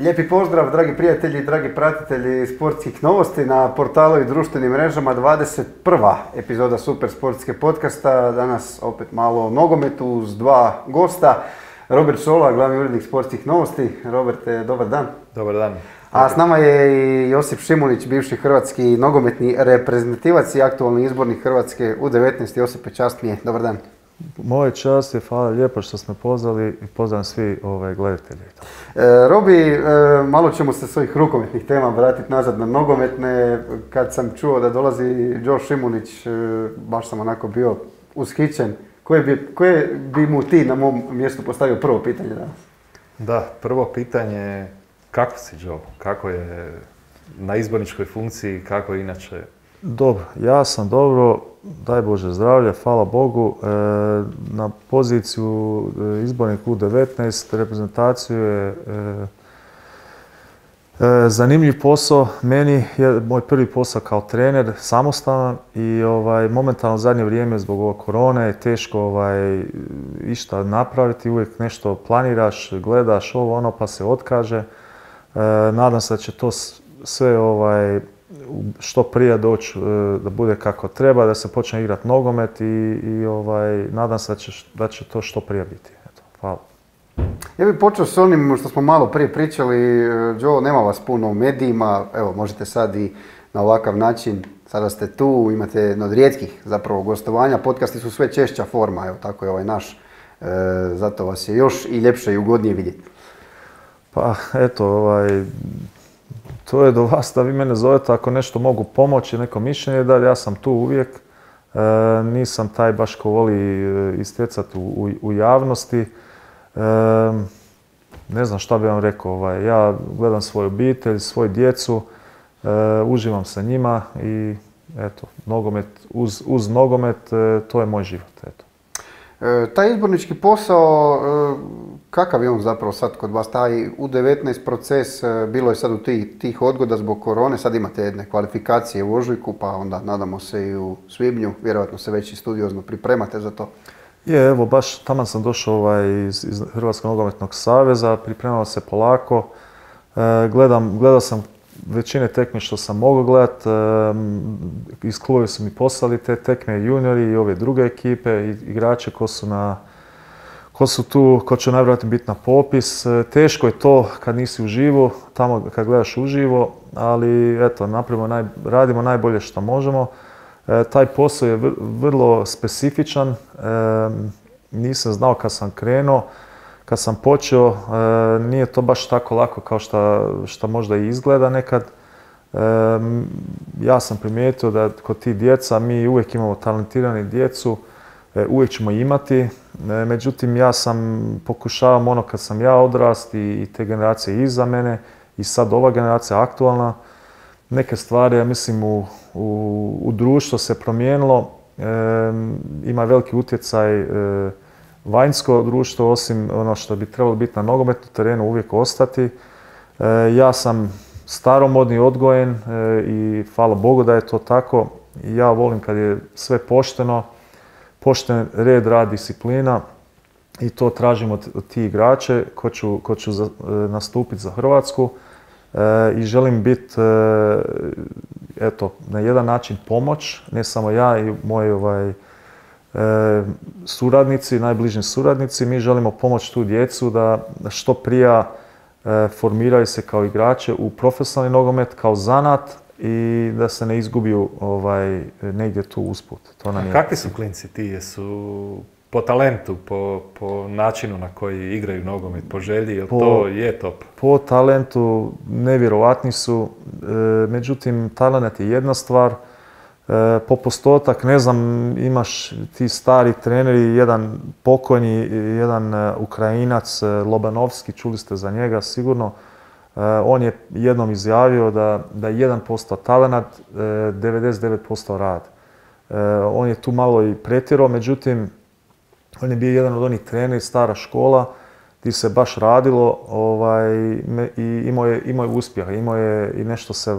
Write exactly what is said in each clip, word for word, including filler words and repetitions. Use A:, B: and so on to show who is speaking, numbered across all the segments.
A: Lijepi pozdrav, dragi prijatelji, dragi pratitelji sportskih novosti na portalu i društvenim mrežama. dvadeset prva epizoda Super sportske podcasta. Danas opet malo o nogometu uz dva gosta. Robert Šola, glavni urednik sportskih novosti. Roberte, dobar dan.
B: Dobar dan.
A: A s nama je i Josip Šimunić, bivši hrvatski nogometni reprezentativac i aktualni izbornik Hrvatske u devetnaest. Josipe, čast mi je. Dobar dan.
B: Moje čast je, hvala lijepo što ste me pozvali i pozdravljam svi ove gledatelji.
A: E, Robi, e, malo ćemo se s ovih rukometnih tema vratiti nazad na nogometne. Kad sam čuo da dolazi Joe Šimunić, e, baš sam onako bio ushićen. Koje bi, koje bi mu ti na mom mjestu postavio prvo pitanje danas?
B: Da, prvo pitanje je kako si, Joe? Kako je na izborničkoj funkciji, kako je inače? Dobro, ja sam dobro, daj Bože zdravlje, hvala Bogu. E, na poziciju izbornik U devetnaest, reprezentaciju je e, e, zanimljiv posao. Meni je moj prvi posao kao trener, samostalan i ovaj, momentalno zadnje vrijeme zbog ove korone je teško ovaj, išta napraviti, uvijek nešto planiraš, gledaš ovo ono pa se otkaže. E, nadam se da će to sve ovaj, što prije doći da bude kako treba, da se počne igrati nogomet i, i ovaj, nadam se da će, da će to što prije biti. Eto, hvala.
A: Ja bih počeo s onim što smo malo prije pričali. Joe, nema vas puno u medijima, evo možete sad i na ovakav način, sada ste tu, imate jedno od rijetkih zapravo gostovanja, podcasti su sve češća forma, evo tako je ovaj naš, e, zato vas je još i ljepše i ugodnije vidjeti.
B: Pa eto, ovaj, to je do vas da vi mene zovete ako nešto mogu pomoći, neko mišljenje da ja sam tu uvijek. E, nisam taj baš ko voli istjecati u, u, u javnosti. E, ne znam šta bih vam rekao. Ovaj, ja gledam svoju obitelj, svoju djecu, e, uživam sa njima i eto, nogomet, uz, uz nogomet e, to je moj život. Eto.
A: E, taj izbornički posao, e, kakav je on zapravo sad kod vas, taj U devetnaest proces, e, bilo je sad u tih, tih odgoda zbog korone, sad imate jedne kvalifikacije u ožujku, pa onda nadamo se i u svibnju, vjerojatno se već i studiozno pripremate za to.
B: Je, evo, baš tamo sam došao ovaj, iz, iz Hrvatskog nogometnog saveza, pripremao se polako, e, gledam, gledao sam većine tekme što sam mogao gledat, e, iz kluba su mi poslali te tekme, juniori i ove druge ekipe, igrače ko su, na, ko su tu, ko će najvjerojatnije biti na popis. E, teško je to kad nisi uživo, tamo kad gledaš uživo, ali eto, napravimo naj, radimo najbolje što možemo. E, taj posao je vrlo specifičan, e, nisam znao kad sam krenuo. Kad sam počeo, e, nije to baš tako lako kao što možda i izgleda nekad. E, ja sam primijetio da kod tih djeca, mi uvijek imamo talentirani djecu, e, uvijek ćemo imati. E, međutim, ja sam pokušavam ono kad sam ja odrast i, i te generacije iza mene i sad ova generacija aktualna, neke stvari, ja mislim, u, u, u društvu se promijenilo. E, ima veliki utjecaj e, vanjsko društvo, osim ono što bi trebalo biti na nogometnom terenu, uvijek ostati. E, ja sam staromodni, odgojen e, i hvala Bogu da je to tako. Ja volim kad je sve pošteno, pošten red, rad, disciplina i to tražim od, od tih igrače ko ću, ko ću za, e, nastupiti za Hrvatsku e, i želim biti e, eto, na jedan način pomoć, ne samo ja i moji ovaj, E, suradnici, najbliži suradnici, mi želimo pomoći tu djecu da što prije e, formiraju se kao igrače u profesionalni nogomet, kao zanat i da se ne izgubiju ovaj, negdje tu usput. To nam je...
C: Kakvi su klinci ti? Jesu po talentu, po, po načinu na koji igraju nogomet, po želji, jel
B: po,
C: to je top?
B: Po talentu nevjerovatni su, e, međutim talent je jedna stvar. E, po postotak, ne znam, imaš ti stari treneri, jedan pokojni, jedan uh, Ukrajinac, uh, Lobanovski, čuli ste za njega sigurno. Uh, on je jednom izjavio da, da je jedan posto talenat, uh, devedeset devet posto rad. Uh, on je tu malo i pretjerao, međutim, on je bio jedan od onih treneri, stara škola, gdje se baš radilo ovaj, i imao je, imao je uspjeha, imao je i nešto se,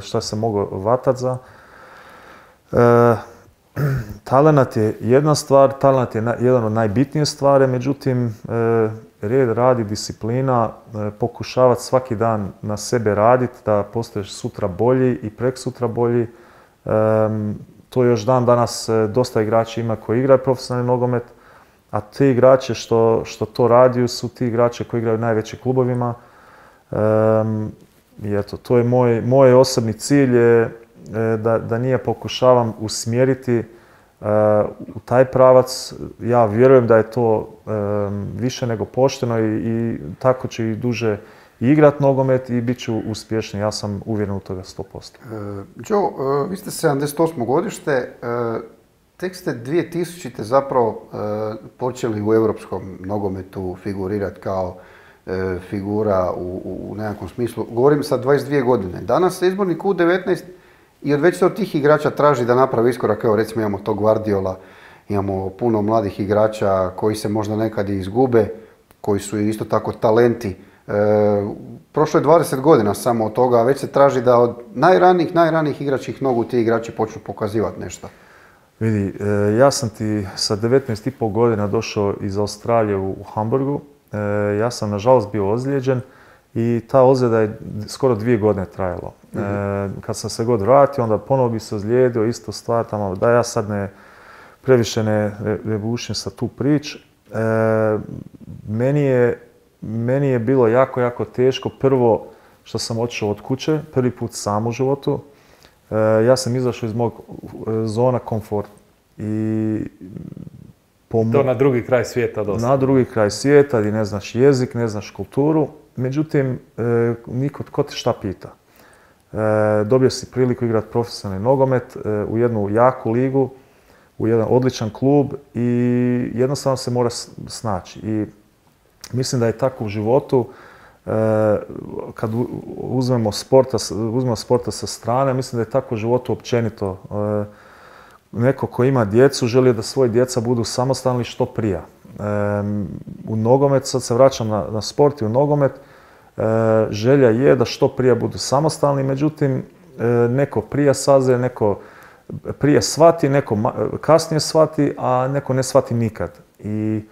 B: što se moglo vatati za. E, Talenat je jedna stvar, talenat je jedan od najbitnijih stvari, međutim, red, radi, disciplina, pokušavati svaki dan na sebe raditi, da postaješ sutra bolji i preksutra bolji. To još dan danas dosta igrača ima koji igraju profesionalni nogomet, a ti igrači što, što to radiju su ti igrači koji igraju u najvećim klubovima. I eto, to je moj, moj osobni cilj je da, da nije pokušavam usmjeriti uh, u taj pravac. Ja vjerujem da je to um, više nego pošteno i, i tako ću i duže igrat nogomet i bit ću uspješni. Ja sam uvjeren u toga sto posto.
A: Uh, Joe, uh, vi ste sedamdeset osmo godište, uh, tek ste dvije tisućite zapravo uh, počeli u europskom nogometu figurirati kao uh, figura u, u nekakvom smislu. Govorim sad dvadeset dvije godine. Danas je izbornik U devetnaest i od već se od tih igrača traži da napravi iskorak. Evo recimo imamo tog Guardiola, imamo puno mladih igrača koji se možda nekad i izgube, koji su isto tako talenti. E, prošlo je dvadeset godina samo od toga, a već se traži da od najranijih, najranijih igračih nogu ti igrači počnu pokazivati nešto.
B: Vidi, e, ja sam ti sa devetnaest i pol godina došao iz Australije u, u Hamburgu. E, ja sam nažalost bio ozlijeđen i ta ozljeda je skoro dvije godine trajalo. Mm-hmm. E, kad sam se god vratio, onda ponovo bi se ozlijedio, isto stvar tamo, da ja sad ne previše ne rebušim sa tu prič. E, meni, je, meni je bilo jako, jako teško. Prvo što sam otišao od kuće, prvi put sam u životu. E, ja sam izašao iz mog zona komforta. I
C: po to na drugi kraj svijeta dosta.
B: Na drugi kraj svijeta gdje ne znaš jezik, ne znaš kulturu. Međutim, e, niko tko te šta pita. E, dobio si priliku igrati profesionalni nogomet e, u jednu jaku ligu, u jedan odličan klub i jednostavno se mora snaći. I mislim da je tako u životu, e, kad uzmemo sporta, uzmemo sporta sa strane, mislim da je tako u životu općenito. E, neko ko ima djecu želi da svoje djeca budu samostalni što prije. E, u nogomet, sad se vraćam na, na sport i u nogomet, e, želja je da što prije budu samostalni, međutim e, neko prije saze, neko prije shvati, neko kasnije shvati, a neko ne shvati nikad. I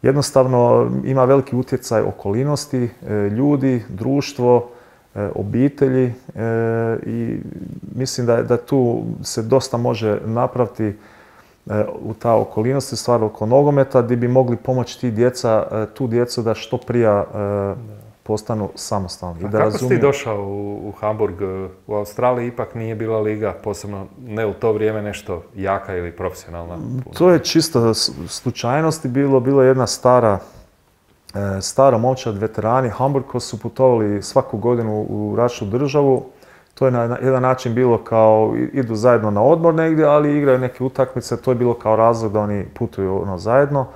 B: jednostavno ima veliki utjecaj okolnosti, e, ljudi, društvo, e, obitelji e, i mislim da, da tu se dosta može napraviti u ta okolinosti, stvar oko nogometa, gdje bi mogli pomoći ti djeca, tu djecu da što prije postanu samostalni.
C: A da kako razumiju... si ti došao u, u Hamburg? U Australiji ipak nije bila liga, posebno ne u to vrijeme nešto jaka ili profesionalna?
B: To je čisto slučajnosti bilo. Bilo je jedna stara, stara momčad, veterani Hamburg koji su putovali svaku godinu u različitu državu. To je na jedan način bilo kao idu zajedno na odmor negdje, ali igraju neke utakmice. To je bilo kao razlog da oni putuju ono zajedno.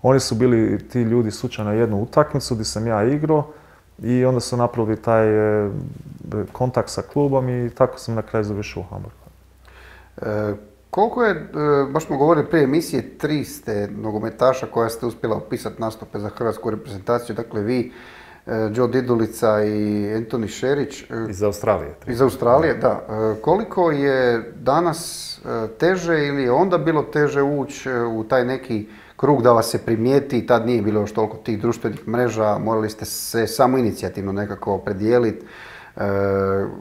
B: Oni su bili ti ljudi slučajno jednu utakmicu gdje sam ja igrao i onda su napravili taj e, kontakt sa klubom i tako sam na kraju završio u Hamburgu.
A: E, koliko je, e, baš smo govorili prije emisije, tri ste nogometaša koja ste uspjela upisati nastupe za hrvatsku reprezentaciju, dakle vi, Joe Didulica i Antoni Šerić.
C: Iz Australije.
A: Iz Australije, da. Koliko je danas teže ili je onda bilo teže ući u taj neki krug da vas se primijeti, tad nije bilo još toliko tih društvenih mreža, morali ste se samoinicijativno nekako opredijeliti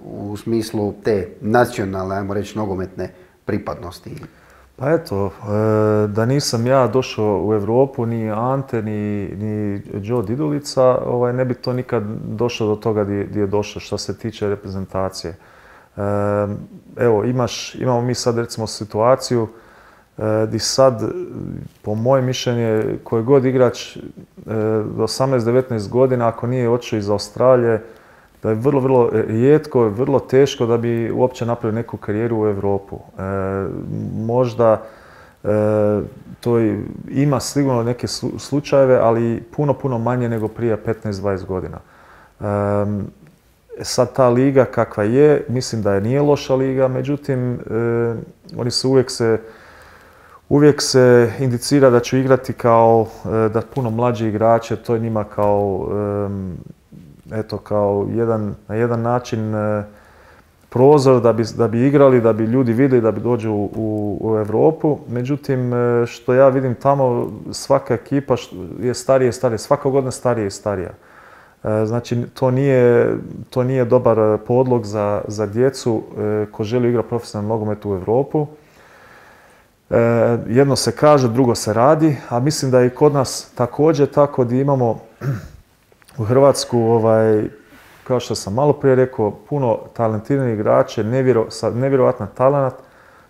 A: u smislu te nacionalne, ajmo reći, nogometne pripadnosti?
B: Pa eto, da nisam ja došao u Europu, ni Ante, ni, ni Joe Didulica, ovaj, ne bi to nikad došlo do toga gdje je došlo što se tiče reprezentacije. Evo, imaš, imamo mi sad recimo situaciju gdje sad, po mojem mišljenju, koji god igrač do osamnaest devetnaest godina, ako nije otišao iz Australije, da je vrlo, vrlo rijetko, vrlo teško da bi uopće napravio neku karijeru u Europu. E, možda e, to ima sigurno neke slučajeve, ali puno, puno manje nego prije petnaest dvadeset godina. E, sad ta liga kakva je, mislim da je nije loša liga, međutim, e, oni su uvijek se Uvijek se indicira da će igrati kao, da puno mlađi igrače, to je njima kao, eto, kao jedan, na jedan način prozor da bi, da bi igrali, da bi ljudi vidjeli, da bi dođu u, u, u Europu. Međutim, što ja vidim tamo, svaka ekipa je starija i starija, svaka godina starija i starija. Znači, to nije, to nije dobar podlog za, za djecu ko želi igrati profesionalni nogomet u Europu. Jedno se kaže, drugo se radi, a mislim da je i kod nas također tako da imamo u Hrvatsku, ovaj, kao što sam malo prije rekao, puno talentiranih igrača, nevjero, nevjerojatan talent.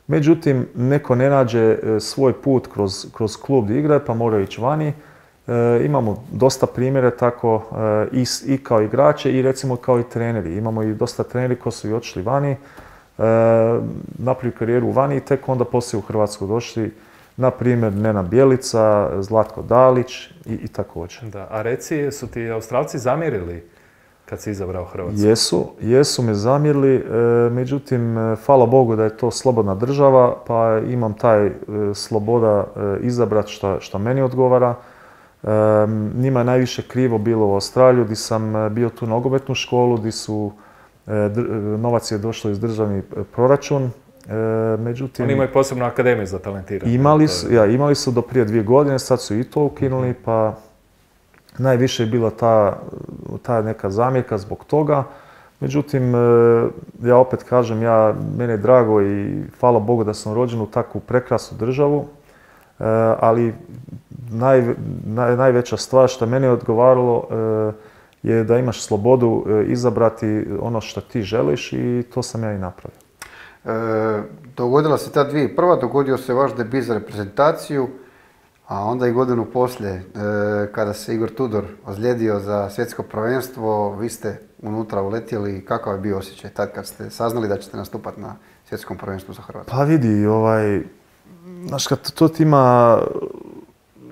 B: Međutim, neko ne nađe svoj put kroz, kroz klub da igra, pa mora ići vani. E, imamo dosta primjere tako e, i, i kao igrače i recimo kao i treneri. Imamo i dosta treneri koji su i otišli vani, e, napravili karijeru vani i tek onda poslije u Hrvatsku došli. Na primjer, Nenad Bjelica, Zlatko Dalić i, i također.
C: Da, a reci, su ti Australci zamjerili kad si izabrao Hrvatsku?
B: Jesu, jesu me zamjerili, e, međutim, e, hvala Bogu da je to slobodna država, pa imam taj e, sloboda e, izabrati šta, šta meni odgovara. E, njima je najviše krivo bilo u Australiju, gdje sam bio tu nogometnu školu, gdje su e, dr, novac je došlo iz državni proračun. E, međutim,
C: Oni imaju posebnu akademiju za talentiranje.
B: Imali su, ja, imali su do prije dvije godine, sad su i to ukinuli, pa najviše je bila ta, ta neka zamjerka zbog toga. Međutim, ja opet kažem, ja, mene je drago i hvala Bogu da sam rođen u takvu prekrasnu državu, ali naj, naj, najveća stvar što meni je odgovaralo je da imaš slobodu izabrati ono što ti želiš i to sam ja i napravio.
A: E, dogodila se ta dvije prva, dogodio se vaš debut za reprezentaciju, a onda i godinu poslije, e, kada se Igor Tudor ozlijedio za svjetsko prvenstvo, vi ste unutra uletjeli. Kakav je bio osjećaj tad kad ste saznali da ćete nastupati na svjetskom prvenstvu za Hrvatsku?
B: Pa vidi, ovaj, znaš, kad to ti ima,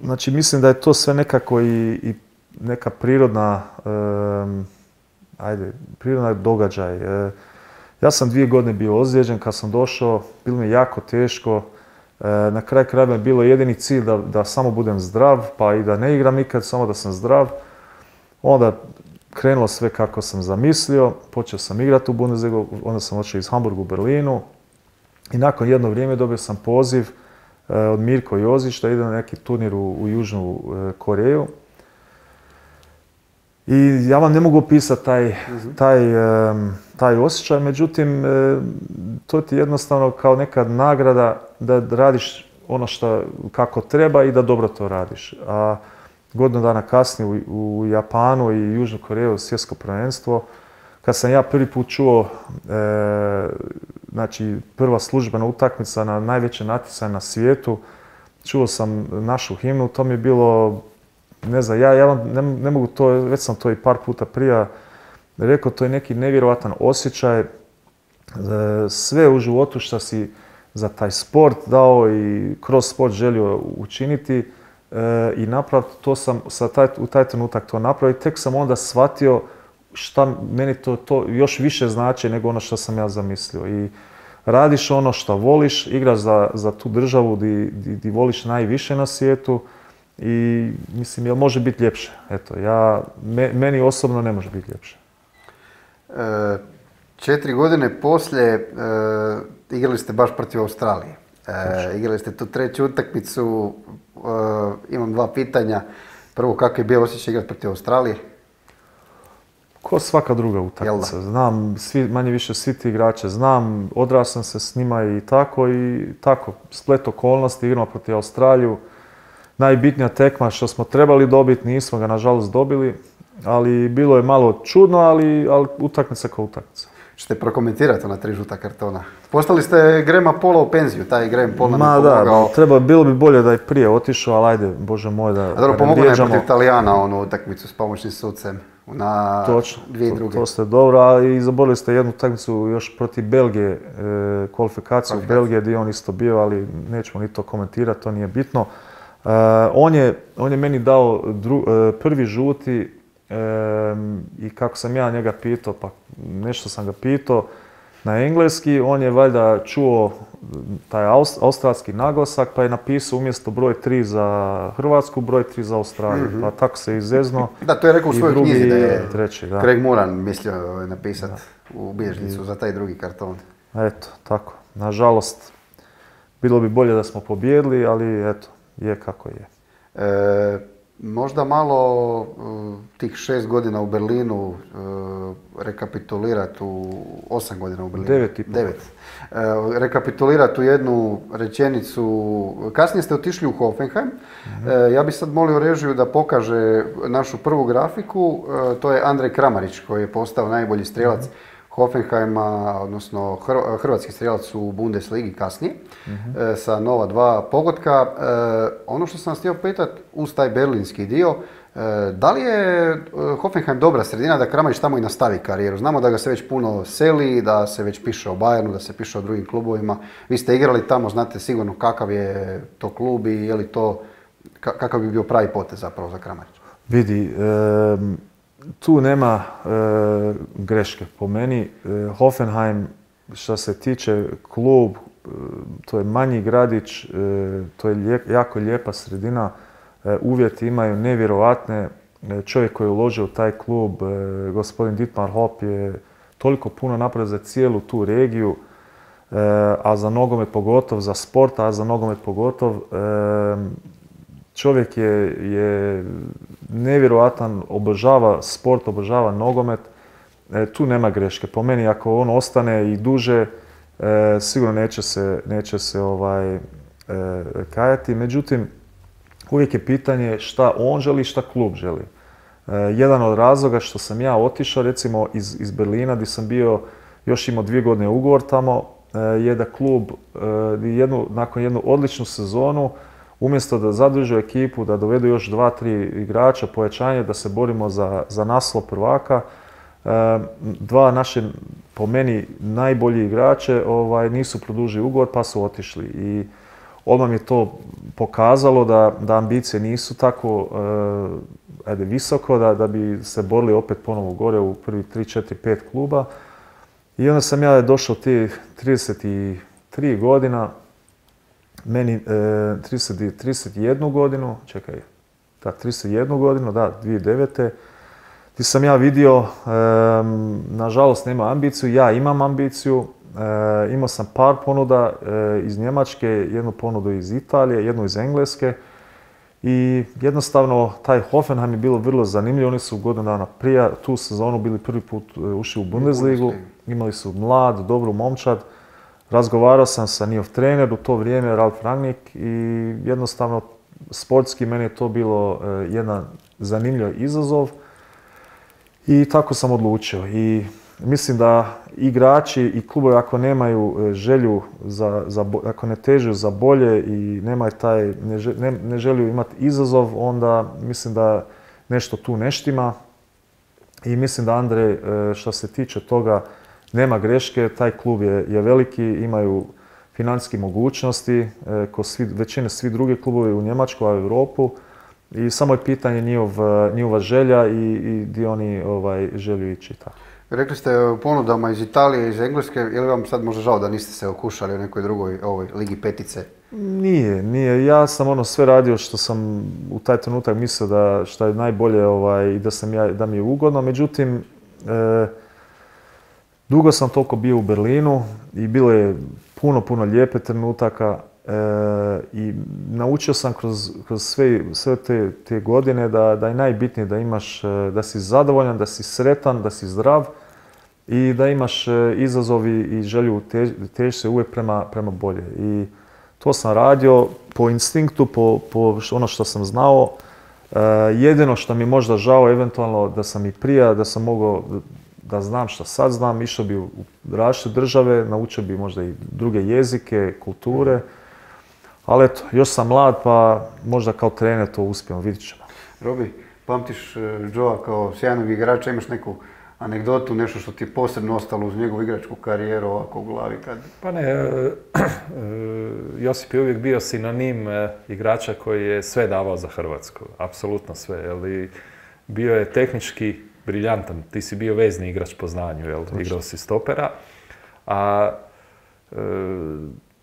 B: znači mislim da je to sve nekako i, i neka prirodna, um, ajde, prirodna događaj. E, ja sam dvije godine bio ozlijeđen, kad sam došao, bilo mi je jako teško. Na kraju krajeva je bilo jedini cilj da, da samo budem zdrav, pa i da ne igram nikad, samo da sam zdrav. Onda krenulo sve kako sam zamislio, počeo sam igrati u Bundesligu, onda sam otišao iz Hamburga u Berlinu i nakon jedno vrijeme dobio sam poziv od Mirko Jozić da ide na neki turnir u, u Južnu Koreju. I ja vam ne mogu opisati taj, taj, taj osjećaj, međutim, to ti je jednostavno kao neka nagrada da radiš ono što kako treba i da dobro to radiš. A godinu dana kasnije u, u Japanu i Južnu Koreju svjetsko prvenstvo, kad sam ja prvi put čuo, e, znači prva službena utakmica na najveće natjecanje na svijetu, čuo sam našu himnu, to mi je bilo, ne znam, ja, ja ne, ne mogu to, već sam to i par puta prije rekao, to je neki nevjerojatan osjećaj. Sve u životu što si za taj sport dao i kroz sport želio učiniti e, i napraviti, to sam sa taj, u taj trenutak to napravio. Tek sam onda shvatio šta meni to, to još više znači nego ono što sam ja zamislio. I radiš ono što voliš, igraš za, za tu državu di, di, di voliš najviše na svijetu i mislim, jel može biti ljepše? Eto, ja, me, meni osobno ne može biti ljepše.
A: E, četiri godine poslije e, igrali ste baš protiv Australije. E, igrali ste tu treću utakmicu. E, imam dva pitanja. Prvo, kako je bio osjećaj igrati protiv Australije?
B: Ko svaka druga utakmica. Znam svi, manje više svi ti igrače, znam, odrasam se s njima i tako i tako. Splet okolnosti, igramo protiv Australiju. Najbitnija tekma što smo trebali dobiti, nismo ga nažalost dobili, ali bilo je malo čudno, ali, ali utakmica kao utakmica.
A: Ćete prokomentirati ona tri žuta kartona? Postali ste Grahama Paula u penziju, taj Graham Paul nam je pomogao.
B: Da, treba, bilo bi bolje da je prije otišao, ali ajde, Bože moj, da,
A: A dobro, pomogao je protiv Italijana onu utakmicu s pomoćnim sucem na
B: Točno,
A: dvije druge.
B: To, to ste dobro, a i zaborili ste jednu utakmicu još protiv Belgije, e, kvalifikaciju u Belgije gdje je on isto bio, ali nećemo ni to komentirati, to nije bitno. E, on, je, on je meni dao dru, e, prvi žuti e, i kako sam ja njega pitao, pa nešto sam ga pitao, na engleski, on je valjda čuo taj australski naglasak pa je napisao umjesto broj tri za Hrvatsku, broj tri za Australiju. Mm-hmm. Pa tako se izezno.
A: Da, to je rekao u svojoj
B: drugi,
A: knjizi da je
B: treći, da.
A: Craig Moran mislio napisati u bilježnicu za taj drugi karton.
B: Eto, tako. Nažalost, bilo bi bolje da smo pobijedili, ali eto, je kako je.
A: E, možda malo uh, tih šest godina u Berlinu uh, rekapitulirati u osam godina u Berlinu.
B: Devet i pol.
A: Devet. Uh, rekapitulirati u jednu rečenicu. Kasnije ste otišli u Hoffenheim. Mm-hmm. Uh, ja bih sad molio režiju da pokaže našu prvu grafiku. Uh, to je Andrej Kramarić koji je postao najbolji strijelac mm-hmm. Hoffenheima, odnosno hrvatski strijelac u Bundesligi kasnije, mm-hmm. sa nova dva pogotka. Ono što sam vas htio pitati uz taj berlinski dio, da li je Hoffenheim dobra sredina da Kramarić tamo i nastavi karijeru? Znamo da ga se već puno seli, da se već piše o Bayernu, da se piše o drugim klubovima. Vi ste igrali tamo, znate sigurno kakav je to klub i je li to, kakav bi bio pravi potez zapravo za Kramarića?
B: Vidi, um... tu nema e, greške. Po meni e, Hoffenheim, što se tiče klub, e, to je manji gradić, e, to je lijep, jako lijepa sredina, e, uvjeti imaju nevjerovatne. E, čovjek koji je uložio u taj klub, e, gospodin Dietmar Hopp, je toliko puno napravio za cijelu tu regiju, e, a za nogomet pogotovo, za sport, a za nogomet pogotovo. E, Čovjek je, je nevjerojatan, obožava sport, obožava nogomet. E, tu nema greške. Po meni, ako on ostane i duže, e, sigurno neće se, neće se ovaj, e, kajati. Međutim, uvijek je pitanje šta on želi i šta klub želi. E, jedan od razloga što sam ja otišao, recimo iz, iz Berlina, gdje sam bio, još imao dvije godine ugovor tamo, e, je da klub e, jednu, nakon jednu odličnu sezonu, umjesto da zadrže ekipu, da dovedu još dva, tri igrača, pojačanje, da se borimo za, za naslov prvaka, dva naše, po meni, najbolji igrače ovaj, nisu produžili ugovor pa su otišli. I odmah mi je to pokazalo da, da ambicije nisu tako uh, ajde, visoko, da, da bi se borili opet ponovo gore u prvi tri, četiri, pet kluba. I onda sam ja došao tih trideset tri godina, meni e, trideset, trideset jednu godinu, čekaj, da, trideset jednu godinu, da, dvije tisuće devete. Gdje sam ja vidio, e, nažalost nema ambiciju, ja imam ambiciju, e, imao sam par ponuda e, iz Njemačke, jednu ponudu iz Italije, jednu iz Engleske i jednostavno taj Hoffenheim je bilo vrlo zanimljivo, oni su godinu dana prije tu sezonu bili prvi put ušli u Bundesligu, imali su mlad, dobru momčad. Razgovarao sam sa njihov trener u to vrijeme, Ralf Rangnick, i jednostavno sportski meni je to bilo jedan zanimljiv izazov i tako sam odlučio. I mislim da igrači i klubovi ako nemaju želju, za, za, ako ne težu za bolje i nemaju taj, ne, ne, ne želju imati izazov, onda mislim da nešto tu ne štima. I mislim da Andrej, što se tiče toga, nema greške, taj klub je, je veliki, imaju financijske mogućnosti, e, ko svi, većine svi drugi klubovi u Njemačkoj, u Europu. I samo je pitanje njihov, njihova želja i, i gdje oni ovaj, želju ići. Tako.
A: Rekli ste o ponudama iz Italije, iz Engleske, je li vam sad možda žao da niste se okušali u nekoj drugoj ovoj Ligi petice?
B: Nije, nije. Ja sam ono sve radio što sam u taj trenutak mislio da što je najbolje ovaj, i da, sam ja, da mi je ugodno. Međutim, e, dugo sam toliko bio u Berlinu i bilo je puno, puno lijepe trenutaka e, i naučio sam kroz, kroz sve, sve te, te godine da, da je najbitnije da imaš, da si zadovoljan, da si sretan, da si zdrav i da imaš izazovi i želju tež, teži se uvijek prema, prema bolje. I to sam radio po instinktu, po, po ono što sam znao. E, jedino što mi možda žao eventualno da sam i prije, da sam mogao da znam što sad znam, išao bi u različite države, naučio bi možda i druge jezike, kulture. Ali eto, još sam mlad pa možda kao trener to uspijemo, vidit ćemo.
A: Robi, pamtiš Joea kao sjajnog igrača, imaš neku anegdotu, nešto što ti je posebno ostalo uz njegovu igračku karijeru ovako u glavi? Kad...
C: Pa ne, Josip je uvijek bio sinonim igrača koji je sve davao za Hrvatsku, apsolutno sve. Ali bio je tehnički briljantan, ti si bio vezni igrač po znanju, jel? Igrao si stopera, A e,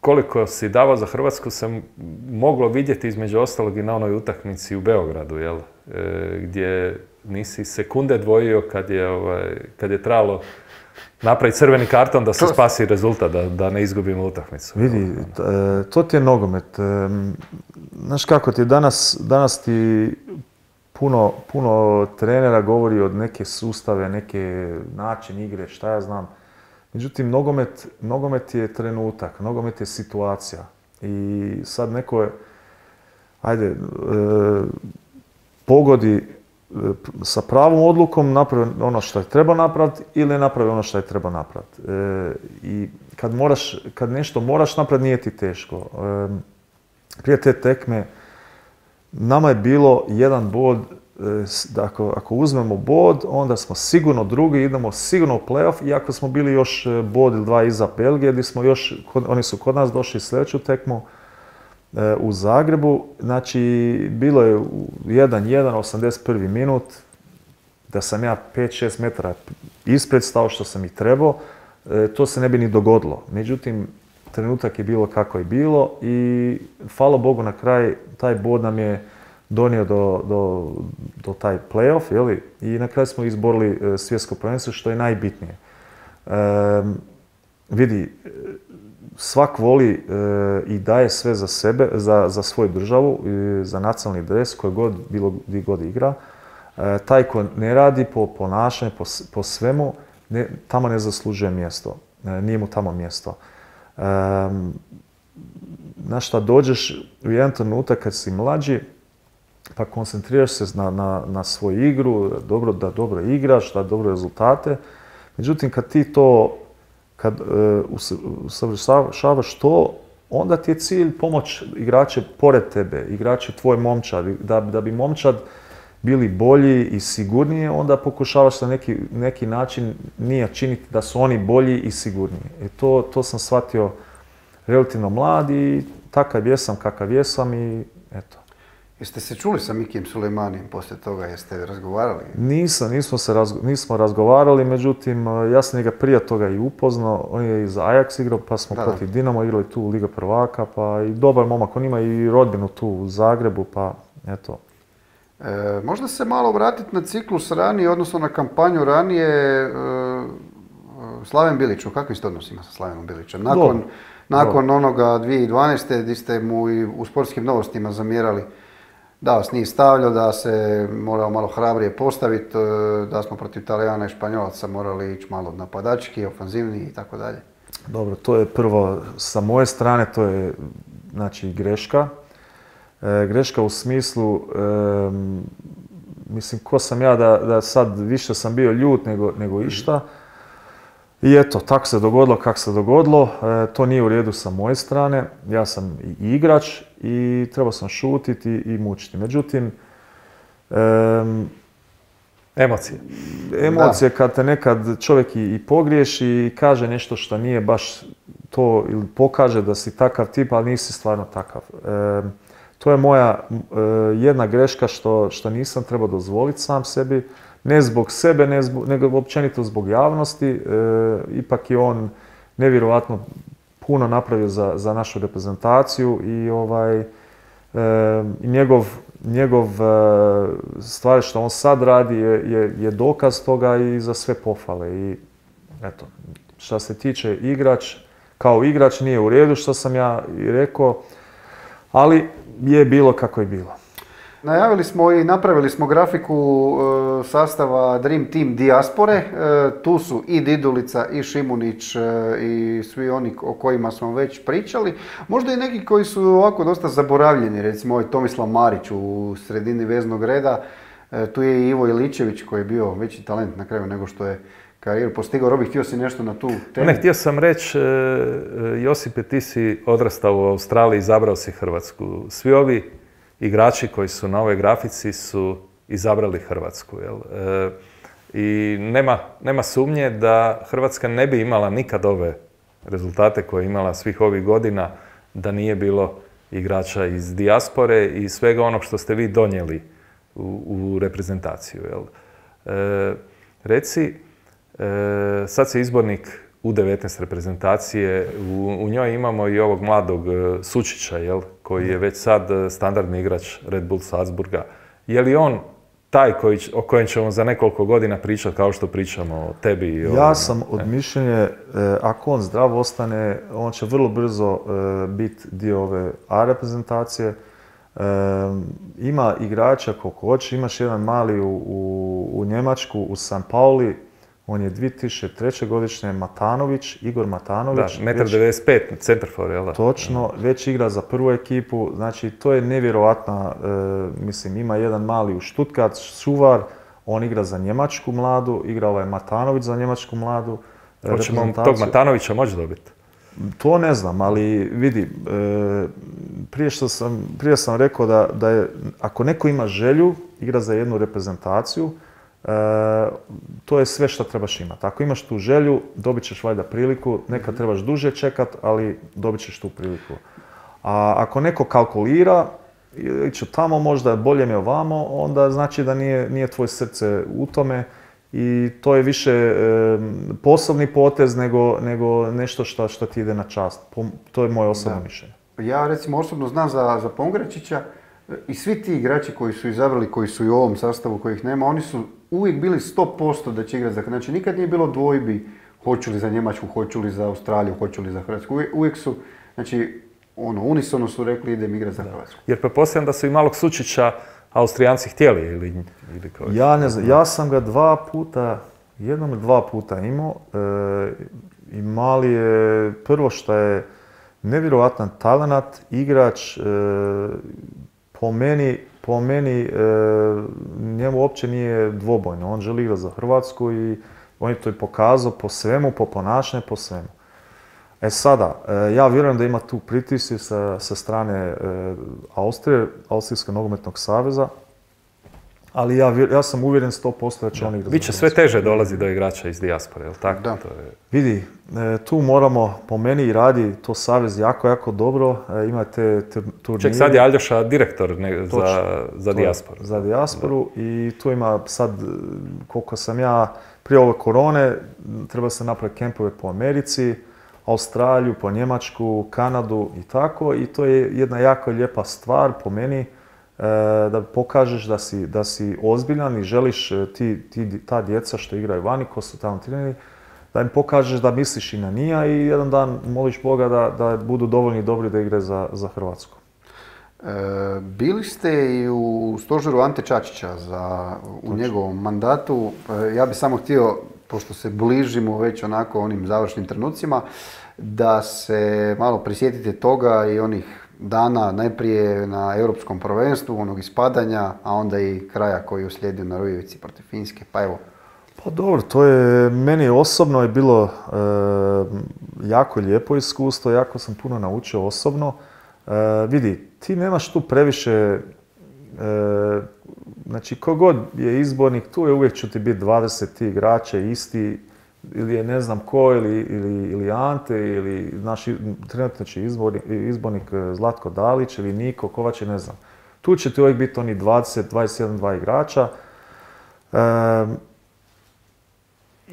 C: koliko si davao za Hrvatsku sam moglo vidjeti između ostalog i na onoj utakmici u Beogradu, jel? E, gdje nisi sekunde dvojio kad je, ovaj, kad je trebalo napraviti crveni karton da se spasi rezultat, da, da ne izgubimo utakmicu.
B: Vidi, to ti je nogomet. Znaš kako ti danas, danas ti puno, puno trenera govori od neke sustave, neke način igre, šta ja znam. Međutim, nogomet, nogomet je trenutak, nogomet je situacija. I sad neko je, ajde, e, pogodi e, sa pravom odlukom, napravi ono što je treba napraviti ili ne napravi ono što je treba napraviti. E, I kad, moraš, kad nešto moraš napraviti, nije ti teško. E, prije te tekme, nama je bilo jedan bod, da ako, ako uzmemo bod, onda smo sigurno drugi, idemo sigurno u play-off, iako smo bili još bod ili dva iza Belgije, gdje smo još, oni su kod nas došli sljedeću tekmu e, u Zagrebu. Znači, bilo je jedan jedan, osamdeset prvi minut, da sam ja pet šest metara ispred stao što sam i trebao, e, to se ne bi ni dogodilo. Međutim, trenutak je bilo kako je bilo i hvala Bogu na kraj taj bod nam je donio do, do, do taj play-off, jeli? I na kraju smo izborili e, svjetsko prvenstvo, što je najbitnije. E, vidi, svak voli e, i daje sve za sebe, za, za svoju državu, e, za nacionalni dres, koji god, bilo gdje god igra. E, taj ko ne radi po ponašanju, po, po svemu, ne, tamo ne zaslužuje mjesto. E, nije mu tamo mjesto. E, na šta dođeš u jedan trenutak kad si mlađi, pa koncentriraš se na, na, na svoju igru, dobro, da dobro igraš, da dobro rezultate. Međutim, kad ti to, kad uh, usavršavaš to, onda ti je cilj pomoć igrače pored tebe, igrače tvoj momčad. Da, da bi momčad bili bolji i sigurniji, onda pokušavaš na neki, neki način nije činiti da su oni bolji i sigurniji. I to, to sam shvatio relativno mlad i takav jesam kakav jesam i eto.
A: Jeste se čuli sa Mikijem Sulejmanijem poslije toga? Jeste razgovarali?
B: Nisam, nismo, se razgo, nismo razgovarali, međutim, ja sam njega prije toga i upoznao. On je iz Ajax igrao, pa smo da, protiv Dinamo igrali tu u Liga prvaka, pa i dobar momak. On ima i rodbinu tu u Zagrebu, pa eto.
A: E, možda se malo vratiti na ciklus ranije, odnosno na kampanju ranije. E, Slaven Bilić, u kakvim ste odnosima sa Slavenom Bilićem? Nakon, Do. nakon Do. onoga dvije tisuće dvanaeste. gdje ste mu i u sportskim novostima zamjerali da vas nije stavljao, da se morao malo hrabrije postaviti, da smo protiv Talijana i Španjolaca morali ići malo napadački, ofanzivni i tako dalje.
B: Dobro, to je prvo sa moje strane, to je znači greška. E, greška u smislu, e, mislim, ko sam ja da, da sad više sam bio ljut nego, nego išta. I eto, tako se dogodilo kako se dogodilo, e, to nije u redu sa moje strane, ja sam i igrač i trebao sam šutiti i, i mučiti. Međutim, e,
C: emocije.
B: Emocije da. Kad te nekad čovjek i, i pogriješi i kaže nešto što nije baš to ili pokaže da si takav tip, ali nisi stvarno takav. E, to je moja e, jedna greška što, što nisam trebao dozvoliti sam sebi. Ne zbog sebe, ne zbog, nego općenito zbog javnosti. E, ipak je on nevjerojatno puno napravio za, za našu reprezentaciju i ovaj, e, njegov, njegov e, stvar što on sad radi je, je, je dokaz toga i za sve pohvale. I eto, što se tiče igrač, kao igrač nije u redu što sam ja i rekao, ali je bilo kako je bilo.
A: Najavili smo i napravili smo grafiku e, sastava Dream Team Dijaspore. E, tu su i Didulica, i Šimunić, e, i svi oni o kojima smo već pričali. Možda i neki koji su ovako dosta zaboravljeni, recimo ovaj Tomislav Marić u sredini veznog reda. E, tu je i Ivo Iličević koji je bio veći talent na kraju nego što je karijeru postigao. Robi, htio si nešto na tu temu?
C: Ne, htio sam reći, e, Josipe, ti si odrastao u Australiji, izabrao si Hrvatsku. Svi ovi igrači koji su na ovoj grafici su izabrali Hrvatsku. Jel? E, I nema, nema sumnje da Hrvatska ne bi imala nikad ove rezultate koje je imala svih ovih godina da nije bilo igrača iz dijaspore i svega onog što ste vi donijeli u, u reprezentaciju. Jel? E, reci, e, sad se izbornik U devetnaest reprezentacije. U, u njoj imamo i ovog mladog e, Sučića, jel, koji je već sad e, standardni igrač Red Bull Salzburga. Je li on taj koji, o kojem ćemo za nekoliko godina pričati kao što pričamo o tebi? I o,
B: ja sam od mišljenja, e, ako on zdrav ostane, on će vrlo brzo e, biti dio ove A reprezentacije. E, ima igrača koliko hoće, imaš jedan mali u, u, u Njemačku, u San Pauli, on je dvije tisuće treće godišnje, Matanović, Igor Matanović.
C: Da, jedan devedeset pet, centarfor, jel da?
B: Točno, već igra za prvu ekipu, znači to je nevjerojatna, e, mislim ima jedan mali u Stuttgart, Suvar, on igra za Njemačku mladu, igra ovaj Matanović za Njemačku mladu.
C: Hoćemo tog Matanovića moći dobiti?
B: To ne znam, ali vidi, e, prije što sam, prije sam rekao da, da je, ako neko ima želju, igra za jednu reprezentaciju, e, to je sve što trebaš imati. Ako imaš tu želju, dobit ćeš valjda priliku, nekad trebaš duže čekat, ali dobit ćeš tu priliku. A ako neko kalkulira, iću tamo, možda bolje mi ovamo, onda znači da nije, nije tvoje srce u tome. I to je više e, poslovni potez nego, nego nešto što, što ti ide na čast. To je moje osobno da. mišljenje.
A: Ja recimo osobno znam za, za Pongračića i svi ti igrači koji su izabrali, koji su i u ovom sastavu kojih nema, oni su uvijek bili sto posto da će igrati za Hrvatsku. Znači nikad nije bilo dvojbi hoću li za Njemačku, hoću li za Australiju, hoću li za Hrvatsku. Uvijek, uvijek su, znači ono, unisono su rekli idem igrati za Hrvatsku.
C: Jer pretpostavljam da su i malog Sučića Austrijanci htjeli ili, ili kao...
B: Ja ne znam, ja sam ga dva puta, jednom ili dva puta imao e, i mali je prvo što je nevjerojatan talenat, igrač, e, po meni, po meni e, njemu uopće nije dvobojno, on želi igrati za Hrvatsku i on je to i pokazao po svemu, po ponašanju, po svemu. E sada, ja vjerujem da ima tu pritisci sa, sa strane e, Austrije, Austrijskog nogometnog saveza, ali ja, ja sam uvjeren sto posto da će oni igrati.
C: Biće sve teže dolazi do igrača iz dijaspore, jel tako?
A: Da.
C: To je...
B: Vidi, e, tu moramo, po meni radi to savez jako, jako dobro, e, imate turnire.
C: Ček, sad je Aljoša direktor ne,
B: Točno,
C: za, za dijasporu.
B: Za dijasporu da. I tu ima sad, koliko sam ja, prije ove korone, treba se napraviti kempove po Americi, Australiju, po Njemačku, Kanadu i tako. I to je jedna jako lijepa stvar po meni e, da pokažeš da si, da si ozbiljan i želiš ti, ti, ta djeca što igraju vani, ko su tamo treneri, da im pokažeš da misliš i na njih i jedan dan moliš Boga da, da budu dovoljni dobri da igre za, za Hrvatsku.
A: E, bili ste i u stožeru Ante Čačića za, u Točno. njegovom mandatu. E, ja bih samo htio, pošto se bližimo već onako onim završnim trenucima, da se malo prisjetite toga i onih dana najprije na Europskom prvenstvu, onog ispadanja, a onda i kraja koji je uslijedio na Rujevici protiv Finske. Pa evo.
B: Pa dobro, to je, meni osobno je bilo e, jako lijepo iskustvo, jako sam puno naučio osobno. E, vidi, ti nemaš tu previše, e, znači kogod je izbornik, tu je uvijek će ti biti dvadeset igrača isti, ili je ne znam ko, ili, ili, ili Ante, ili naš trenutno će izbornik, izbornik Zlatko Dalić, ili Niko Kovač, ne znam. Tu će ti uvijek biti oni dvadeset, dvadeset jedan, dva igrača. E,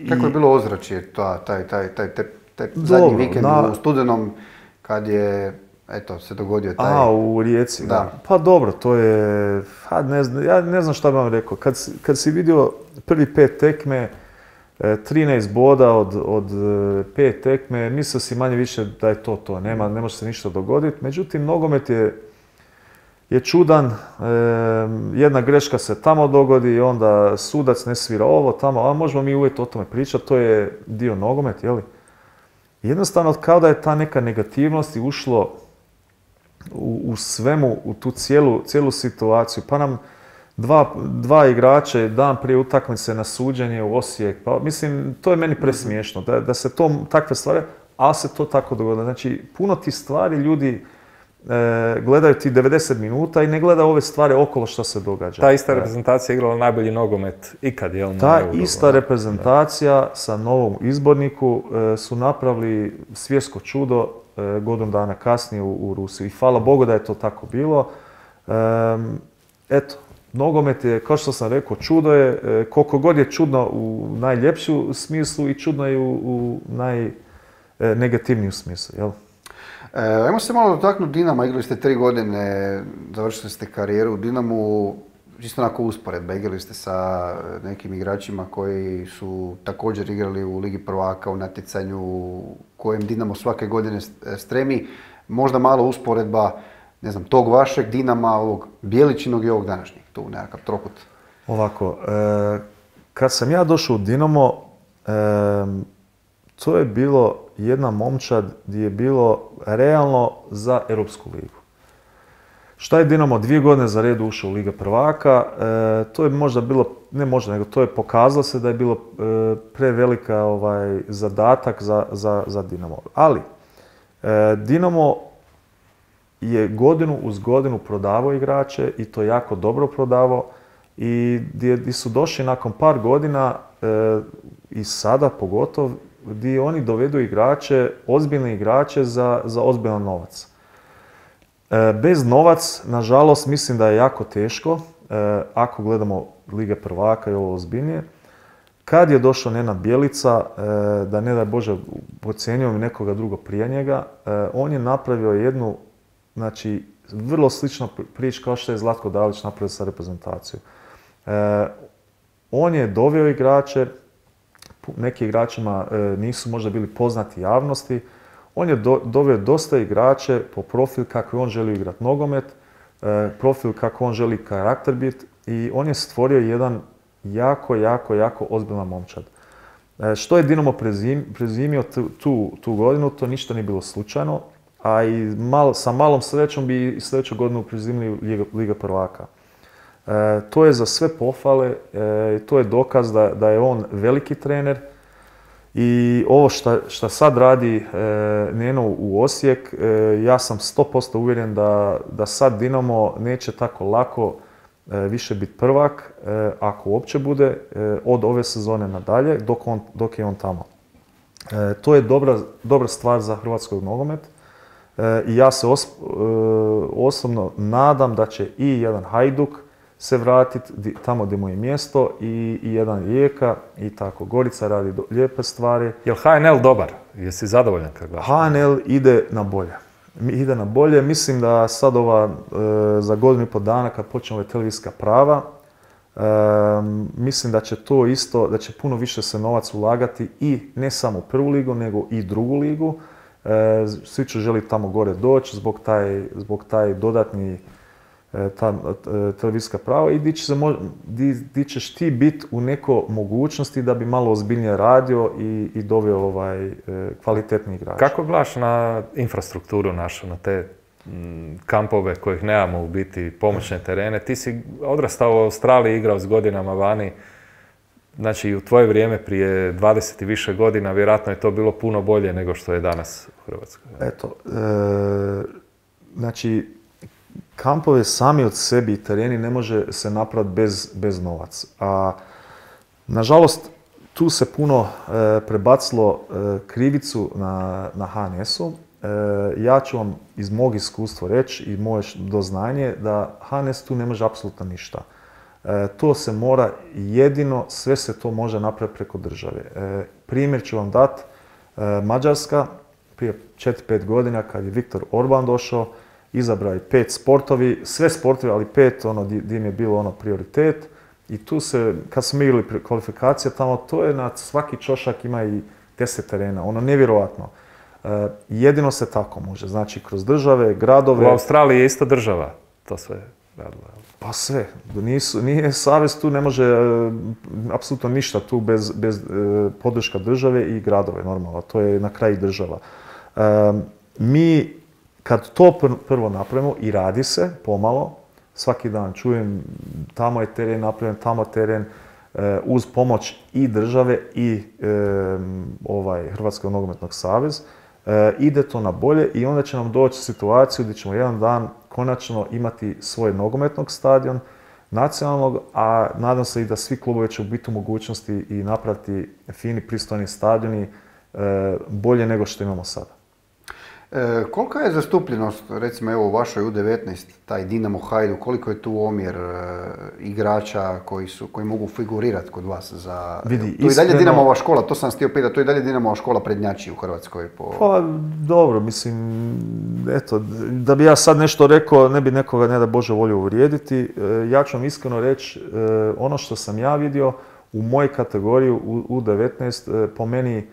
A: Kako je bilo ozračje taj, taj, taj, taj, taj zadnji vikend na... u studenom kad je eto, se dogodio taj...
B: A, u Rijeci, da. da. Pa dobro, to je... Ha, ne znam, ja ne znam šta bih vam rekao. Kad, kad si vidio prvi pet tekme, trinaest boda od, od pet tekme, mislio si manje više da je to to, nema, ne može se ništa dogoditi. Međutim, nogomet je, je čudan, e, jedna greška se tamo dogodi i onda sudac ne svira ovo, tamo, a možemo mi uvijek o tome pričati, to je dio nogomet, jeli? Jednostavno, kao da je ta neka negativnost i ušlo u, u svemu, u tu cijelu, cijelu situaciju, pa nam Dva, dva igrača dan prije utakmice na suđenje u Osijek, pa mislim, to je meni presmiješno, da, da se to, takve stvari, a se to tako dogodilo. Znači, puno ti stvari ljudi e, gledaju ti devedeset minuta i ne gledaju ove stvari okolo što se događa.
C: Ta ista reprezentacija igrala najbolji nogomet ikad, jel?
B: Ta ista reprezentacija da. sa novom izborniku e, su napravili svjetsko čudo e, godinu dana kasnije u, u Rusiji. I hvala Bogu da je to tako bilo. E, eto, nogomet je, kao što sam rekao, čudo je, e, koliko god je čudno u najljepšu smislu i čudno je u, u najnegativniju smislu, jel?
A: E, ajmo se malo dotaknuti Dinama, igrali ste tri godine, završili ste karijeru u Dinamu, čisto onako usporedba, igrali ste sa nekim igračima koji su također igrali u Ligi prvaka, u natjecanju kojem Dinamo svake godine stremi, možda malo usporedba, ne znam, tog vašeg Dinama, ovog Bjeličinog i ovog današnjeg, tu nekakav trokut.
B: Ovako, e, kad sam ja došao u Dinamo, e, to je bilo jedna momčad gdje je bilo realno za Europsku ligu. Šta je Dinamo dvije godine za redu ušao u Liga prvaka, e, to je možda bilo, ne možda, nego to je pokazalo se da je bilo e, prevelika ovaj, zadatak za, za, za Dinamo. Ali, e, Dinamo je godinu uz godinu prodavao igrače i to jako dobro prodavao i gdje, gdje su došli nakon par godina e, i sada pogotovo gdje oni dovedu igrače, ozbiljne igrače za, za ozbiljan novac. E, bez novac, nažalost, mislim da je jako teško, e, ako gledamo Lige prvaka i ovo ozbiljnije. Kad je došao Nenad Bjelica, e, da ne daj Bože podcjenjujem nekoga drugo prije njega, e, on je napravio jednu, znači, vrlo sličnu priču kao što je Zlatko Dalić napravio sa reprezentacijom. E, on je doveo igrače, neki igračima e, nisu možda bili poznati javnosti, on je do, doveo dosta igrače po profil kako on želi igrati nogomet, e, profil kako on želi karakter biti i on je stvorio jedan jako, jako, jako ozbiljan momčad. E, što je Dinamo prezim, prezimio tu, tu, tu godinu, to ništa nije bilo slučajno, a i mal, sa malom srećom bi i sljedeću godinu prezimili Liga, Liga prvaka. E, to je za sve pohvale, e, to je dokaz da, da je on veliki trener i ovo što sad radi e, Neno u Osijek, e, ja sam sto posto uvjeren da, da sad Dinamo neće tako lako e, više biti prvak, e, ako uopće bude, e, od ove sezone nadalje, dok, on, dok je on tamo. E, to je dobra, dobra stvar za hrvatskog nogomet. E, I ja se os, e, osobno nadam da će i jedan Hajduk se vratiti tamo gdje mu je mjesto i, i jedan Rijeka i tako. Gorica radi do, lijepe stvari.
C: Je li H N L dobar? Jesi zadovoljan kad gledaš?
B: H N L ide na bolje. Ide na bolje. Mislim da sad ova, e, za godinu i pol dana kad počne ove televizijska prava, e, mislim da će to isto, da će puno više se novac ulagati i ne samo u prvu ligu, nego i drugu ligu. E, svi će želi tamo gore doći zbog taj, zbog taj dodatni ta televizijska prava i di, će se mo, di, di ćeš ti biti u neko mogućnosti da bi malo ozbiljnije radio i, i doveo ovaj, kvalitetni igrač.
C: Kako gledaš na infrastrukturu našu, na te m, kampove kojih nemamo u biti, pomoćne terene? Ti si odrastao u Australiji, igrao s godinama vani. Znači, u tvoje vrijeme prije dvadeset i više godina vjerojatno je to bilo puno bolje nego što je danas u Hrvatskoj.
B: Eto, e, znači, kampove sami od sebi i tereni ne može se napraviti bez, bez novac. A, nažalost, tu se puno e, prebacilo e, krivicu na, na H N S-u. E, ja ću vam iz mog iskustva reći i moje doznanje da H N S tu ne može apsolutno ništa. E, to se mora jedino, sve se to može napraviti preko države. E, primjer ću vam dati, e, Mađarska prije četiri pet godina kad je Viktor Orban došao, izabrao je pet sportovi, sve sportovi, ali pet ono gdje im je bilo ono prioritet. I tu se, kad smo igrali kvalifikacije tamo, to je na svaki čošak ima i deset terena, ono nevjerojatno. E, jedino se tako može, znači kroz države, gradove.
C: U Australiji je isto država to sve radila.
B: Pa sve, nisu, nije savez tu, ne može e, apsolutno ništa tu bez, bez e, podrška države i gradove normalno, to je na kraju država. E, mi kad to prvo napravimo i radi se pomalo, svaki dan čujem tamo je teren napravljen, tamo teren, e, uz pomoć i države i e, ovaj, Hrvatskog nogometnog saveza, e, ide to na bolje i onda će nam doći situaciju gdje ćemo jedan dan konačno imati svoj nogometnog stadion, nacionalnog, a nadam se i da svi klubovi će biti u mogućnosti i napraviti fini, pristojni stadioni e, bolje nego što imamo sada.
A: E, kolika je zastupljenost, recimo evo u vašoj U devetnaest, taj Dinamo Hajduk, koliko je tu omjer e, igrača koji, su, koji mogu figurirati kod vas za...
B: Vidi,
A: to je i dalje
B: iskreno-
A: Dinamova škola, to sam htio pitati, to je i dalje Dinamova škola prednjači u Hrvatskoj po...
B: Pa dobro, mislim, eto, da bi ja sad nešto rekao, ne bi nekoga, ne da Bože, volio uvrijediti. E, ja ću vam iskreno reći, e, ono što sam ja vidio u mojoj kategoriji u U devetnaest, e, po meni, e,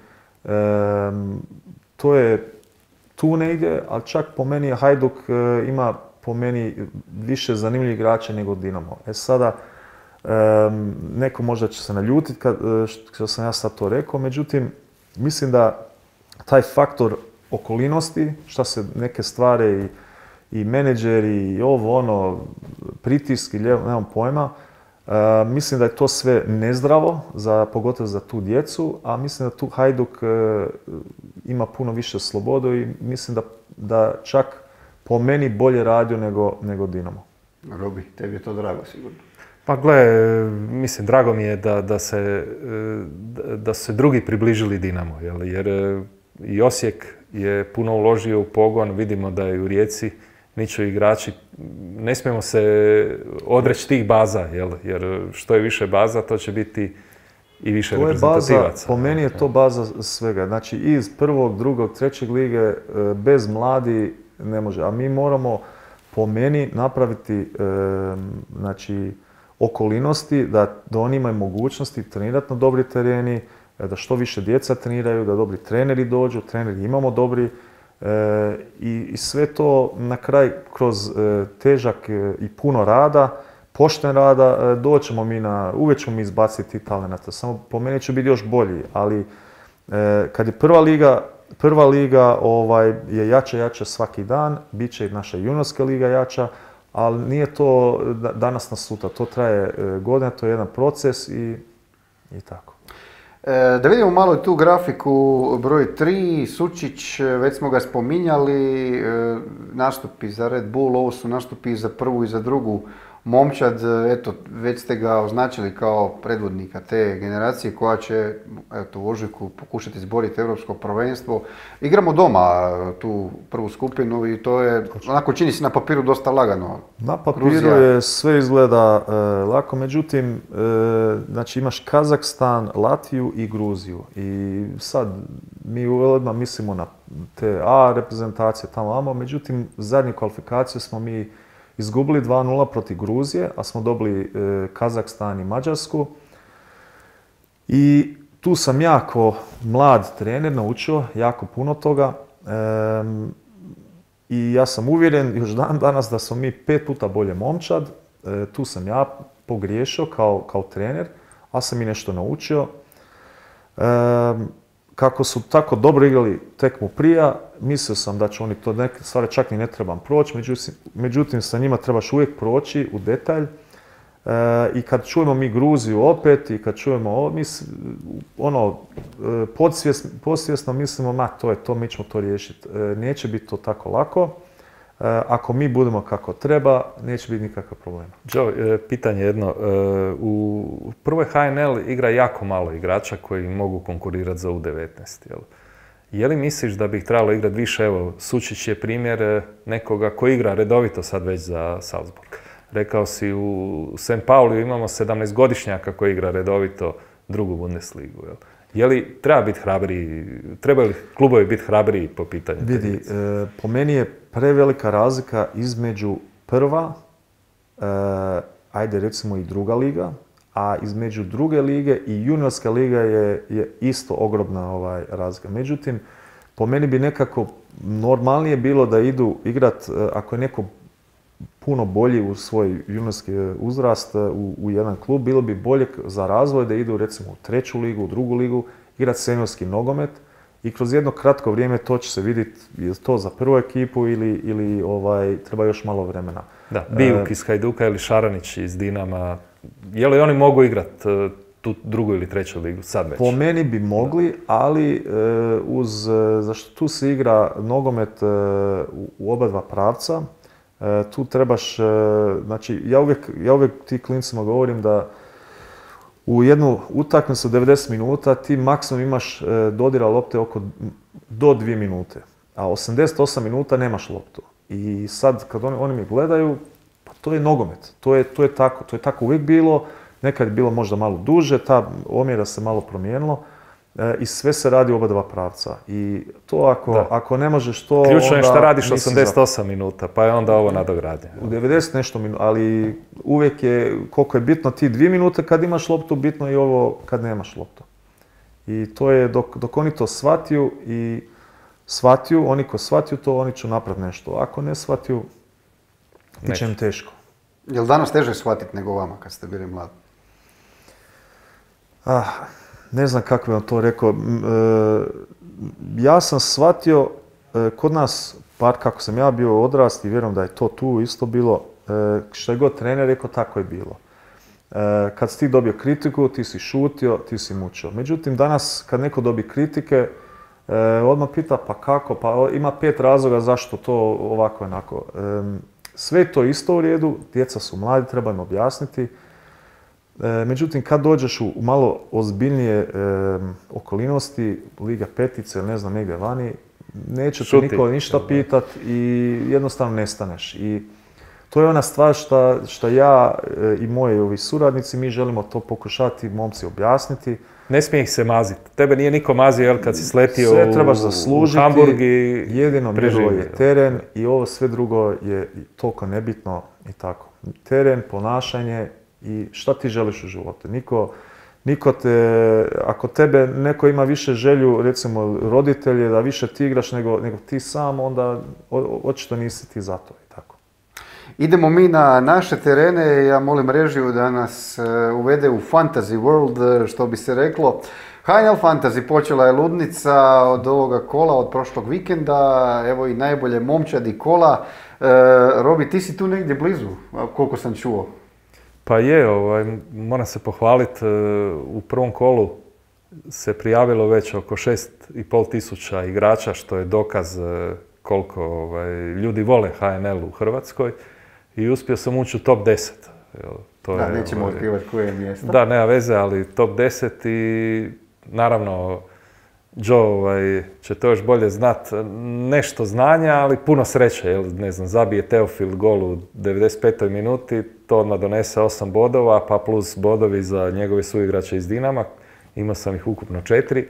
B: to je tu negdje, ali čak po meni Hajduk e, ima po meni više zanimljivih igrača nego Dinamo. E sada, e, neko možda će se naljutiti kad, e, što sam ja sad to rekao, međutim, mislim da taj faktor okolinosti, šta se neke stvari i, i menadžeri i ovo ono, pritiski, nemam pojma, uh, mislim da je to sve nezdravo, za, pogotovo za tu djecu, a mislim da tu Hajduk uh, ima puno više slobodu i mislim da, da čak po meni bolje radio nego, nego Dinamo.
A: Robi, tebi je to drago sigurno.
C: Pa gle, mislim, drago mi je da, da, se, da su se drugi približili Dinamo, jel? Jer i Osijek je puno uložio u pogon, vidimo da je u Rijeci niču igrači, ne smijemo se odreći tih baza, jel? Jer što je više baza, to će biti i više
B: to je
C: reprezentativaca.
B: Baza, po meni je to baza svega, znači iz prvog, drugog, trećeg lige bez mladi ne može, a mi moramo po meni napraviti znači, okolinosti da, da oni imaju mogućnosti trenirati na dobri tereni, da što više djeca treniraju, da dobri treneri dođu, treneri imamo dobri e, i, i sve to na kraj kroz e, težak e, i puno rada, pošten rada, e, doćemo mi na, uvijek ćemo mi izbaciti talenata, samo po meni će biti još bolji, ali e, kad je prva liga, prva liga ovaj, je jača, jača svaki dan, bit će i naša juniorska liga jača, ali nije to danas na sutra, to traje godine, to je jedan proces i, i tako.
A: E, da vidimo malo tu grafiku broj tri, Sučić, već smo ga spominjali, e, nastupi za Red Bull, ovo su nastupi za prvu i za drugu momčad, eto, već ste ga označili kao predvodnika te generacije koja će, eto, u ožujku pokušati izboriti europsko prvenstvo. Igramo doma tu prvu skupinu i to je, onako čini se na papiru dosta lagano.
B: Na papiru
A: Gruzija.
B: je sve izgleda e, lako, međutim, e, znači imaš Kazahstan, Latviju i Gruziju i sad mi odmah mislimo na te A reprezentacije tamo vamo, međutim zadnju kvalifikaciju smo mi izgubili dva nula protiv Gruzije, a smo dobili e, Kazahstan i Mađarsku. I tu sam jako mlad trener naučio jako puno toga. E, I ja sam uvjeren još dan danas da smo mi pet puta bolje momčad. E, tu sam ja pogriješio kao, kao trener, ali sam i nešto naučio. E, Kako su tako dobro igrali tekmu prija, mislio sam da će oni to neke stvari čak ni ne trebam proći, međutim, međutim sa njima trebaš uvijek proći u detalj. E, I kad čujemo mi Gruziju opet i kad čujemo ovo, mi ono, podsvjesno, podsvjesno mislimo, ma to je to, mi ćemo to riješiti. E, neće biti to tako lako. E, ako mi budemo kako treba, neće biti nikakav problema.
C: Joe, pitanje jedno. U prvoj H N L igra jako malo igrača koji mogu konkurirati za U devetnaest. Jel? Je li misliš da bi ih trebalo igrati više? Evo, Sučić je primjer nekoga koji igra redovito sad već za Salzburg. Rekao si, u Saint Pauliju imamo sedamnaestogodišnjaka koji igra redovito drugu Bundesligu. Jel? Je li treba biti hrabriji, trebaju li klubovi biti hrabriji po pitanju?
B: Vidi, e, po meni je prevelika razlika između prva, e, ajde recimo i druga liga, a između druge lige i juniorska liga je, je isto ogromna ovaj, razlika. Međutim, po meni bi nekako normalnije bilo da idu igrat, ako je neko puno bolji u svoj juniorski uzrast u, u jedan klub, bilo bi bolje za razvoj da idu recimo u treću ligu, u drugu ligu, igrati seniorski nogomet i kroz jedno kratko vrijeme to će se vidjeti je to za prvu ekipu ili, ili ovaj, treba još malo vremena.
C: Da, Bijuk iz Hajduka ili Šaranić iz Dinama, je li oni mogu igrati tu drugu ili treću ligu sad već?
B: Po meni bi mogli, ali uz, zašto tu se igra nogomet u oba dva pravca, tu trebaš, znači ja uvijek, ja uvijek ti klincima govorim da u jednu utakmicu devedeset minuta ti maksimum imaš dodira lopte oko do dvije minute. a osamdeset osam minuta nemaš loptu. I sad kad oni, oni mi gledaju, pa to je nogomet, to je, to je tako, to je tako uvijek bilo, nekad je bilo možda malo duže, ta omjera se malo promijenilo e, i sve se radi u oba dva pravca. I to ako, ako ne možeš to,
C: ključno je šta radiš
B: nisi
C: osamdeset osam minuta, pa je onda ovo nadogradnje.
B: U devedeset nešto minuta, ali uvijek je, koliko je bitno ti dvije minute kad imaš loptu, bitno je i ovo kad nemaš loptu. I to je, dok, dok oni to shvatiju i shvatiju, oni ko shvatiju to, oni će napraviti nešto. Ako ne shvatiju, bit će im teško.
A: Je li danas teže shvatiti nego vama kad ste bili mladi?
B: Ah, ne znam kako bi vam to rekao. E, ja sam shvatio, e, kod nas, par kako sam ja bio odrast i vjerujem da je to tu isto bilo, e, što je god trener rekao, tako je bilo. E, kad si ti dobio kritiku, ti si šutio, ti si mučio. Međutim, danas kad neko dobije kritike, e, odmah pita pa kako, pa ima pet razloga zašto to ovako i onako. E, sve je to isto u redu, djeca su mladi, treba im objasniti. E, međutim, kad dođeš u malo ozbiljnije e, okolnosti, Liga petice ili ne znam negdje vani, neće te niko ništa pitat i jednostavno nestaneš. I to je ona stvar što ja e, i moji ovi suradnici, mi želimo to pokušati momci objasniti.
C: Ne smije ih se maziti. Tebe nije niko mazio jel, kad si sletio
B: sve
C: u,
B: trebaš zaslužiti,
C: u Hamburg i
B: jedino mjerilo je teren i ovo sve drugo je toliko nebitno i tako. Teren, ponašanje i šta ti želiš u životu. Niko, niko te, ako tebe neko ima više želju, recimo roditelje, da više ti igraš nego, nego ti sam, onda očito nisi ti za to i tako.
A: Idemo mi na naše terene, ja molim režiju da nas uvede u Fantasy World, što bi se reklo. H N L Fantasy počela je ludnica od ovoga kola, od prošlog vikenda, evo i najbolje momčadi kola. E, Robi, ti si tu negdje blizu, koliko sam čuo.
C: Pa je, ovaj, moram se pohvaliti, u prvom kolu se prijavilo već oko šest i pol tisuća igrača, što je dokaz koliko ovaj, ljudi vole H N L u Hrvatskoj. I uspio sam ući u top deset. To
A: da,
C: je,
A: nećemo
C: ovaj,
A: otkrivati koje je mjesto.
C: Da, nema veze, ali top deset i naravno Joe ovaj, će to još bolje znat. Nešto znanja, ali puno sreće. Jel, ne znam, zabije Teofil gol u devedeset petoj minuti, to odmah donese osam bodova, pa plus bodovi za njegove suigrače iz Dinama. Imao sam ih ukupno četiri.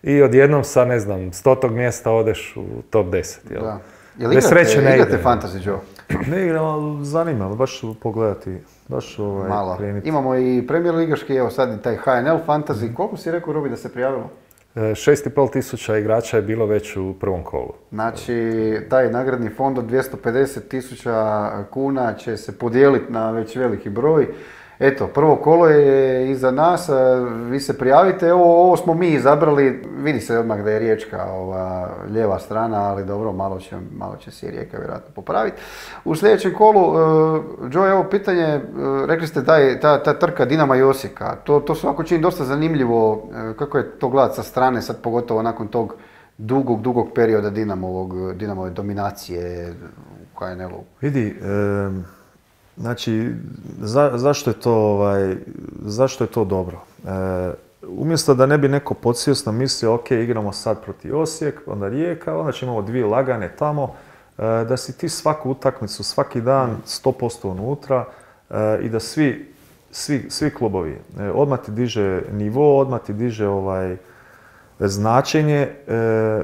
C: I odjednom sa, ne znam, stotog mjesta odeš u top deset. Jel?
A: Da. Jel igrate, sreće ne igrate ide. Fantasy, Joe?
B: Ne igram, ali zanima, baš pogledati, baš ovaj,
A: malo.
B: Kreniti.
A: Imamo i Premier ligaški, evo sad i taj H N L Fantasy. Koliko si rekao, Robi, da se prijavilo?
C: Šest i pol tisuća igrača je bilo već u prvom kolu.
A: Znači, taj nagradni fond od dvjesto pedeset tisuća kuna će se podijeliti na već veliki broj. Eto, prvo kolo je iza nas, vi se prijavite, evo ovo smo mi izabrali, vidi se odmah da je Riječka ova lijeva strana, ali dobro, malo će, malo će se i Rijeka vjerojatno popraviti. U sljedećem kolu, uh, Joe, evo pitanje, uh, rekli ste da je ta, ta trka Dinama i Osijeka, to, to svako čini dosta zanimljivo, uh, kako je to gledati sa strane, sad pogotovo nakon tog dugog, dugog perioda Dinamovog, Dinamove dominacije u H N L-u.
B: Vidi, um... Znači, za, zašto, je to, ovaj, zašto je to dobro? E, umjesto da ne bi neko podsvjesno mislio, ok, igramo sad protiv Osijek, onda Rijeka, onda ćemo imamo dvije lagane tamo, e, da si ti svaku utakmicu, svaki dan sto posto unutra e, i da svi, svi, svi klubovi, e, odmah ti diže nivo, odmah ti diže ovaj, značenje,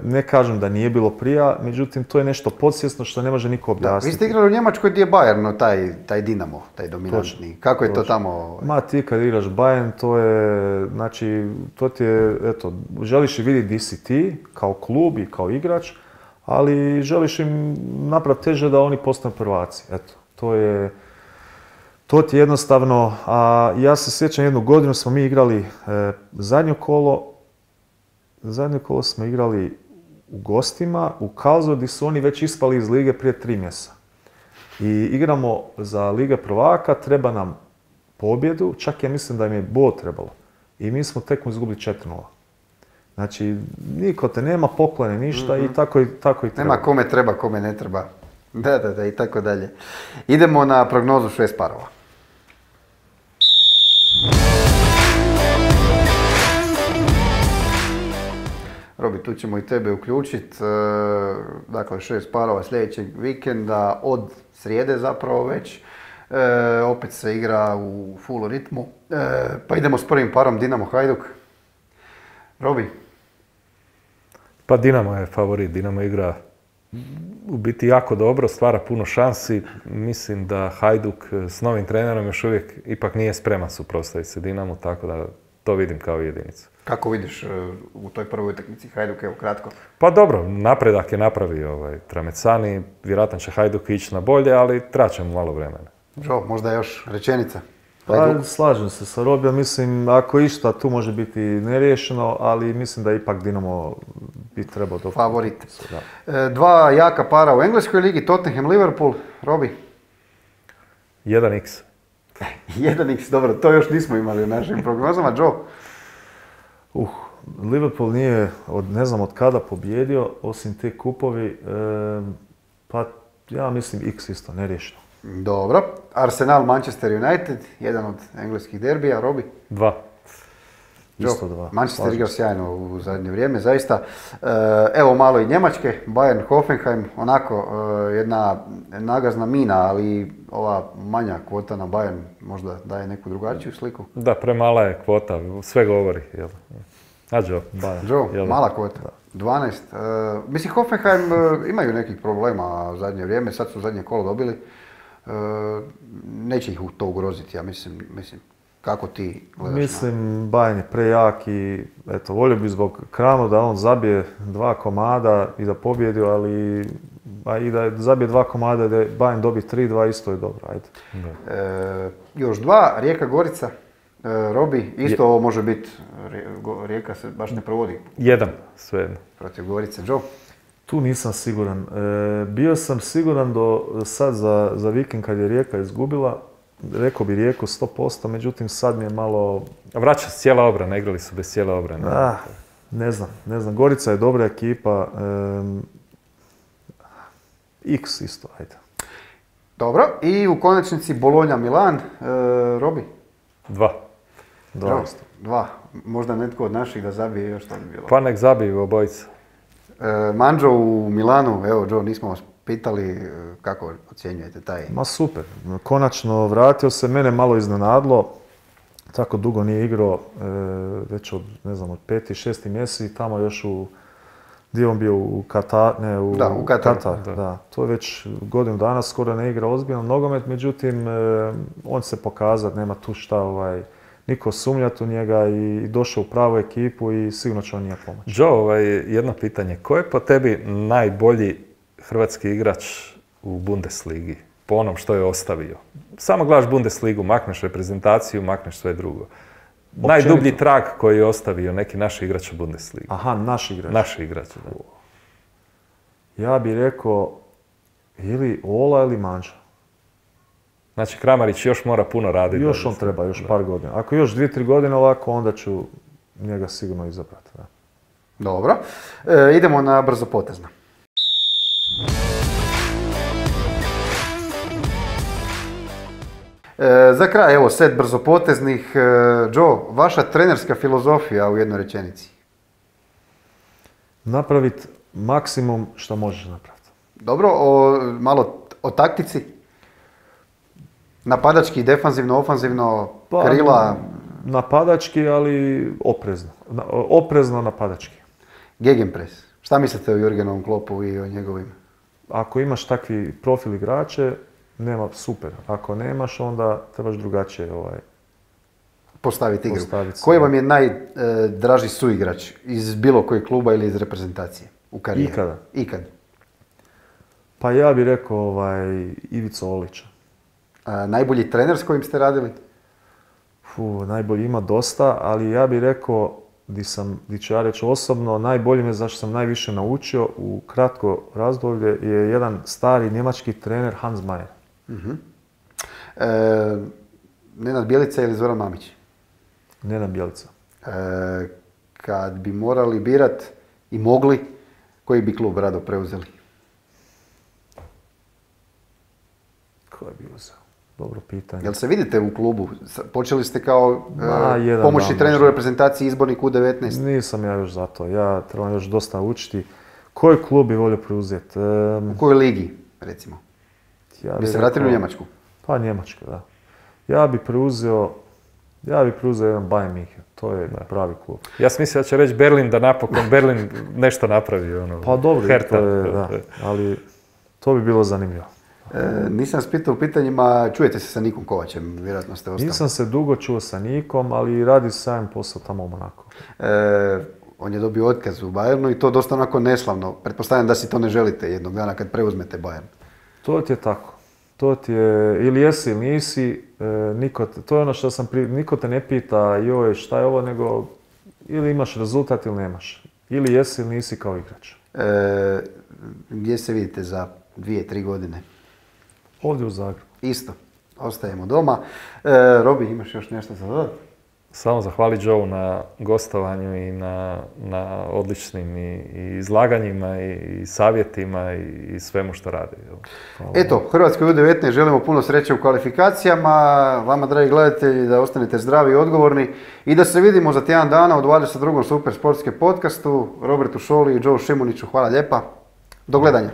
B: ne kažem da nije bilo prija, međutim to je nešto podsvjesno što ne može niko objasniti.
A: Da, vi ste igrali u Njemačkoj gdje je Bayern, taj, taj Dinamo, taj dominantni. Točno. Kako je Točno. to tamo?
B: Ma ti kad igraš Bayern, to je, znači, to ti je, eto, želiš vidjeti di si ti, kao klub i kao igrač, ali želiš im napraviti teže da oni postanu prvaci, eto, to je, to ti je jednostavno, a ja se sjećam jednu godinu smo mi igrali e, zadnje kolo, Zadnje kolo smo igrali u gostima, u Karlsruhe, gdje su oni već ispali iz lige prije tri mjeseca. I igramo za Lige prvaka, treba nam pobjedu, čak ja mislim da im je bod trebalo. I mi smo tekmu izgubili četiri nula. Znači, niko te nema poklone, ništa mm-hmm. i tako i, tako i treba.
A: Nema kome treba, kome ne treba. Da, da, da, i tako dalje. Idemo na prognozu šest parova. Robi, tu ćemo i tebe uključiti. Dakle, šest parova sljedećeg vikenda, od srijede zapravo već. E, opet se igra u full ritmu. E, pa idemo s prvim parom Dinamo Hajduk. Robi?
C: Pa Dinamo je favorit. Dinamo igra u biti jako dobro, stvara puno šansi. Mislim da Hajduk s novim trenerom još uvijek ipak nije spreman suprotstaviti se Dinamu, tako da to vidim kao jedinicu.
A: Kako vidiš u toj prvoj utakmici Hajduk, evo kratko?
C: Pa dobro, napredak je napravio ovaj Tramecani, vjerojatno će Hajduk ići na bolje, ali traće mu malo vremena.
A: Čo, možda još rečenica?
B: Pa, slažem se sa Robijom, mislim, ako išta tu može biti neriješeno, ali mislim da ipak Dinamo bi trebao dobro.
A: Favorit. Da. Dva jaka para u Engleskoj ligi, Tottenham, Liverpool. Robi?
C: jedan iks.
A: jedan iks, dobro, to još nismo imali u našim prognozama. Joe?
B: Uh, Liverpool nije, od, ne znam od kada pobjedio, osim te kupovi, e, pa ja mislim X isto, neriješeno.
A: Dobro. Arsenal, Manchester United, jedan od engleskih derbija. Robi?
C: Dva.
B: Isto dva.
A: Manchester igrao sjajno u zadnje vrijeme, zaista. Evo malo i Njemačke, Bayern, Hoffenheim, onako jedna nagazna mina, ali ova manja kvota na Bayern možda daje neku drugačiju sliku.
C: Da, premala je kvota, sve govori. Jel? A Joe?
A: Bayern. Joe, jel? Mala kvota. dvanaest. Uh, mislim, Hoffenheim uh, imaju nekih problema u zadnje vrijeme, sad su zadnje kolo dobili. Uh, neće ih to ugroziti, ja mislim, mislim. Kako ti gledaš?
B: Mislim, Bayern je prejak i eto, volio bi zbog Kranu da on zabije dva komada i da pobjedi, ali a i da zabije dva komada, da Bayern dobi tri dva, isto je dobro, ajde.
A: E, još dva, Rijeka Gorica. E, Robi, isto ovo može biti, Rijeka se baš ne provodi.
C: Jedan, svejedno.
A: Protiv Gorice. Joe?
B: Tu nisam siguran. E, bio sam siguran do sad za, za vikend kad je Rijeka izgubila. Rekao bi Rijeku sto posto, međutim sad mi je malo...
C: Vraća se cijela obrana, igrali su bez cijele obrane.
B: Ah, ne znam, ne znam. Gorica je dobra ekipa. Um, X isto, ajde.
A: Dobro, i u konačnici Bologna Milan. E, Robi?
C: Dva.
B: Dva isto.
A: Dva. Možda netko od naših da zabije još to bi bilo.
C: Pa nek zabiju obojica.
A: E, Mandžo u Milanu, evo Joe, nismo vas pitali kako ocjenjujete taj...
B: Ma super, konačno vratio se, mene malo iznenadlo, tako dugo nije igrao, e, već od, ne znam, od peti, šesti mjeseci, tamo još u, gdje on bio u Katar, ne, u,
A: da, u Katar.
B: Katar da. Da. To je već godinu dana skoro ne igra ozbiljan nogomet, međutim, e, on se pokazat, nema tu šta, ovaj, niko sumnjati u njega i došao u pravu ekipu i sigurno će on nije pomoći.
C: Joe, ovaj, jedno pitanje, ko je po tebi najbolji hrvatski igrač u Bundesligi, po onom što je ostavio? Samo gledaš Bundesligu, makneš reprezentaciju, makneš sve drugo. Općenito. Najdublji trag koji je ostavio neki naš igrač u Bundesligi.
B: Aha, naš igrač.
C: Naš igrač, da.
B: Ja bih rekao ili Ola ili Manža.
C: Znači Kramarić još mora puno raditi.
B: Još on treba, još par godina. Ako još dvije, tri godine ovako, onda ću njega sigurno izabrati. Da.
A: Dobro. E, idemo na brzo potezna. E, za kraj, evo, set brzopoteznih. E, Joe, vaša trenerska filozofija u jednoj rečenici?
B: Napraviti maksimum što možeš napraviti.
A: Dobro, o, malo o taktici? Napadački, defanzivno, ofanzivno,
B: pa,
A: krila?
B: Napadački, ali oprezno. Oprezno napadački.
A: Gegenpress. Šta mislite o Jurgenovom Kloppu i o njegovim?
B: Ako imaš takvi profil igrače, nema, super. Ako nemaš, onda trebaš drugačije ovaj,
A: postaviti igru.
B: Postaviti
A: Koji vam je najdraži suigrač iz bilo kojeg kluba ili iz reprezentacije u karijeri?
B: Ikada.
A: Ikad.
B: Pa ja bih rekao ovaj, Ivica Olića.
A: A, najbolji trener s kojim ste radili?
B: Fu, najbolji ima dosta, ali ja bih rekao, di sam, di ću ja reći osobno, najbolji me zašto sam najviše naučio u kratko razdoblje je jedan stari njemački trener Hans Mayer.
A: Uh-huh. E, Nenad Bjelica ili Zoran Mamić?
B: Nenad Bjelica.
A: E, kad bi morali birat i mogli, koji bi klub rado preuzeli?
B: Ko bi uzeo? dobro pitanje.
A: Jel se vidite u klubu? Počeli ste kao
B: Ma,
A: e,
B: jedan
A: pomoćni
B: dan
A: trener u
B: možda.
A: reprezentaciji izbornik U devetnaest.
B: Nisam ja još za to. Ja trebam još dosta učiti. Koji klub bi volio preuzeti? Ehm,
A: U kojoj ligi, recimo?
B: ja
A: Bi se
B: rekao-
A: vratili u Njemačku?
B: Pa Njemačka, da. Ja bi preuzeo, ja bi preuzeo jedan Bayern München. To je pravi klub.
C: Ja sam mislio da će reći Berlin, da napokon Berlin nešto napravi. Ono,
B: Pa dobro,
C: Hertha.
B: to je, da. Ali to bi bilo zanimljivo.
A: E, nisam vas pitao u pitanjima, čujete se sa Nikom Kovačem, vjerojatno ste ostali.
B: Nisam se dugo čuo sa Nikom, ali radi sajem posao tamo u Monaku.
A: E, on je dobio otkaz u Bayernu i to dosta onako neslavno. Pretpostavljam da si to ne želite jednog dana kad preuzmete Bayern.
B: To ti je tako. To ti je, ili jesi ili nisi, e, niko, te- to je ono što sam pri, niko te ne pita joj šta je ovo, nego ili imaš rezultat ili nemaš. Ili jesi ili nisi kao igrač.
A: E, gdje se vidite za dvije, tri godine?
B: Ovdje u Zagrebu.
A: Isto. Ostajemo doma. E, Robi, imaš još nešto za dodati?
C: Samo zahvali Joe na gostovanju i na, na odličnim i, i izlaganjima i, i savjetima i, i svemu što radi. jel. Hvala.
A: Eto, Hrvatskoj U devetnaest želimo puno sreće u kvalifikacijama. Vama, dragi gledatelji, da ostanete zdravi i odgovorni i da se vidimo za tjedan dana u dvadeset drugom Super sportske podcastu. Robertu Šoli i Joe Šimuniću, hvala lijepa. Do gledanja.